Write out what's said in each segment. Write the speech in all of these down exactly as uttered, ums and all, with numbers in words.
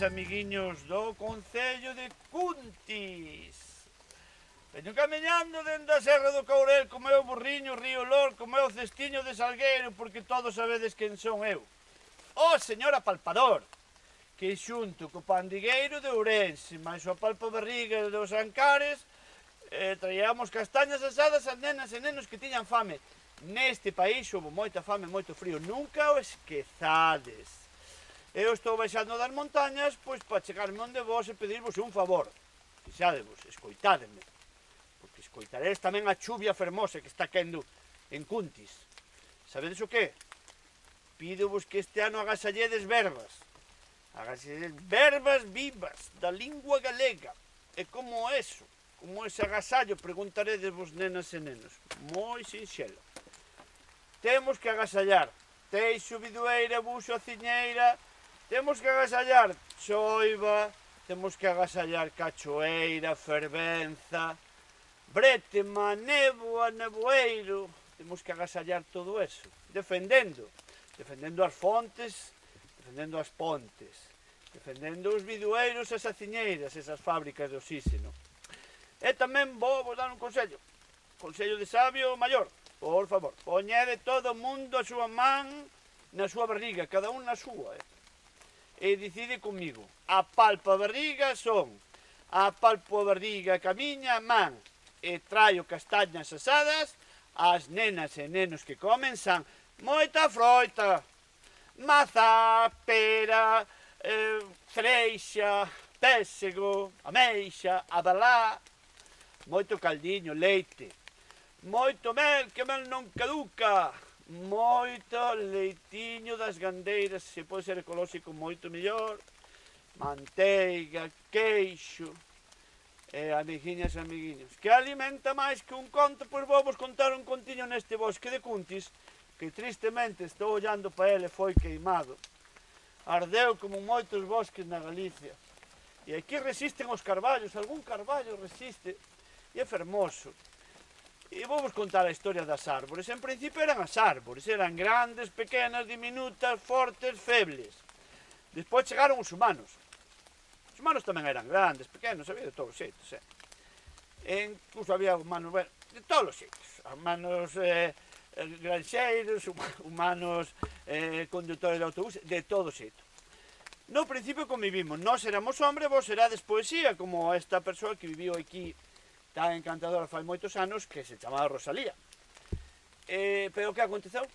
amiguiños do Concello de Cuntis. Veño camiñando dende a Serra do Courel co meu burriño Río Lor, co meu cestiño de Salgueiro, porque todos sabedes quen son eu. O señor apalpador, que xunto co pandigueiro de Ourense, máis o apalpabarriga dos Ancares, eh, traíamos castañas asadas a nenas e nenos que tiñan fame. Neste país houve moita fame e moito frío, nunca o esquezades. Eu estou baixando das montañas, pois para chegarme onde vos e pedirvos un favor. Fixadevos, escoitádeme, porque escoitaredes tamén a chuvia fermosa que está quendo en Cuntis. Sabedes o que? Pídovos que este ano agasalledes verbas. Agasalledes verbas vivas da lingua galega. E como eso, como ese agasallo, preguntaredes vos nenas e nenos. Moi sinxelo. Temos que agasallar teixo, bidueira, buxo, aciñeira. Temos que agasallar choiva, temos que agasallar cachoeira, fervenza, brétema, néboa, neboeiro. Temos que agasallar todo eso, defendendo, defendendo as fontes, defendendo as pontes, defendendo os bidueiros e as aciñeiras, esas fábricas de oxígeno. E tamén vou vos dar un consello, consello de sabio maior, por favor, poñede todo o mundo a súa man na súa barriga, cada un na súa, eh? E decide comigo, a palpa barriga son, a palpo a barriga camiña man, e traio castañas asadas, as nenas e nenos que comen san moita froita, mazá, pera, eh, cereixa, pésego, ameixa, abalá, moito caldiño, leite, moito mel, que mel non caduca, moito leitiño das gandeiras, se pode ser ecolóxico moito mellor, manteiga, queixo, e amiguiñas e amiguiños. Que alimenta máis que un conto, pois vou vos contar un contiño neste bosque de Cuntis, que tristemente estou ollando para ele, foi queimado. Ardeu como moitos bosques na Galicia. E aquí resisten os carballos, algún carballo resiste, e é fermoso. E vou vos contar a historia das árbores. En principio eran as árbores, eran grandes, pequenas, diminutas, fortes, febles. Despois chegaron os humanos. Os humanos tamén eran grandes, pequenos, había de todos os xeitos. Eh? E incluso había humanos, bueno, de todos os xeitos. Humanos eh, granxeiros, humanos eh, conductores de autobús, de todos os xeitos. No principio convivimos, nós éramos hombres, vos erades poesía, como esta persoa que viviu aquí tan encantadora fai moitos anos, que se chamaba Rosalía. Eh, pero que aconteceu?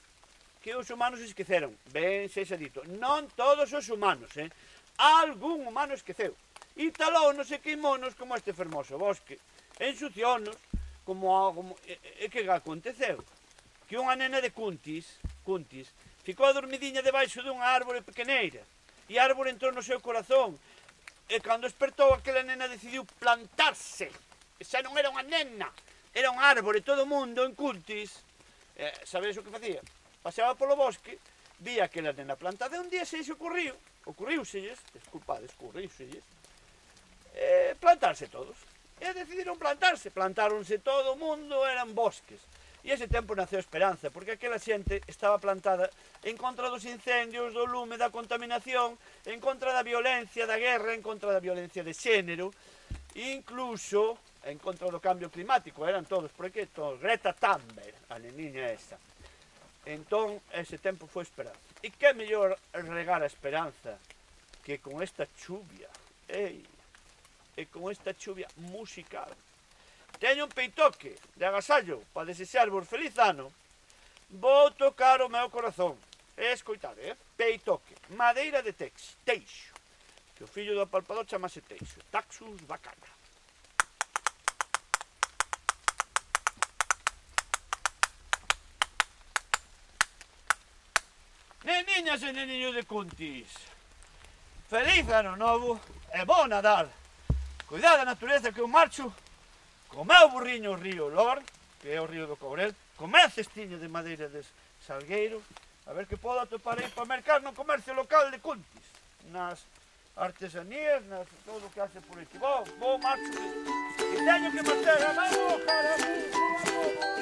Que os humanos esqueceron, ben sexa dito, non todos os humanos, eh? Algún humano esqueceu, e talónos e queimónos como este fermoso bosque, ensuciónos, como algo... E, e que aconteceu? Que unha nena de Cuntis, Cuntis, ficou dormidiña debaixo dunha árbore pequeneira, e a árbore entrou no seu corazón, e cando despertou aquela nena decidiu plantarse. Xa non era unha nena, era un árbore, todo o mundo en Cuntis. Eh, sabedes o que facía? Paseaba polo bosque, vía aquela nena plantada, e un día se xe ocurriu, ocurriuselles, desculpades, ocurriuselles, eh, plantarse todos. E decidiron plantarse, plantáronse todo o mundo, eran bosques. E ese tempo naceu esperanza, porque aquela xente estaba plantada en contra dos incendios, do lume, da contaminación, en contra da violencia, da guerra, en contra da violencia de xénero, incluso en contra do cambio climático, eran todos, por aquí, todos, Greta Thunberg, a neniña esa. Entón, ese tempo foi esperanza. E que mellor regar a esperanza que con esta chuvia, ei, e con esta chuvia musical. Teño un peitoque de agasallo para desexarvos feliz ano. Vou tocar o meu corazón. E escoitade, eh? Peitoque, madeira de tex, teixo, que o fillo do apalpador chamase teixo, Taxus bacana. Neniñas e neniños de Cuntis, feliz ano novo e bo Nadal. Cuidado da natureza que eu marcho co meu burriño Río Lor, que é o río do Courel, co meu cestiño de madeira de Salgueiro, a ver que podo atopar aí para mercar no comercio local de Cuntis, nas artesanías, nas todo o que hace por aquí. Bo, bo marcho, que teño que marchar, vamos, cara, vamos, vamos.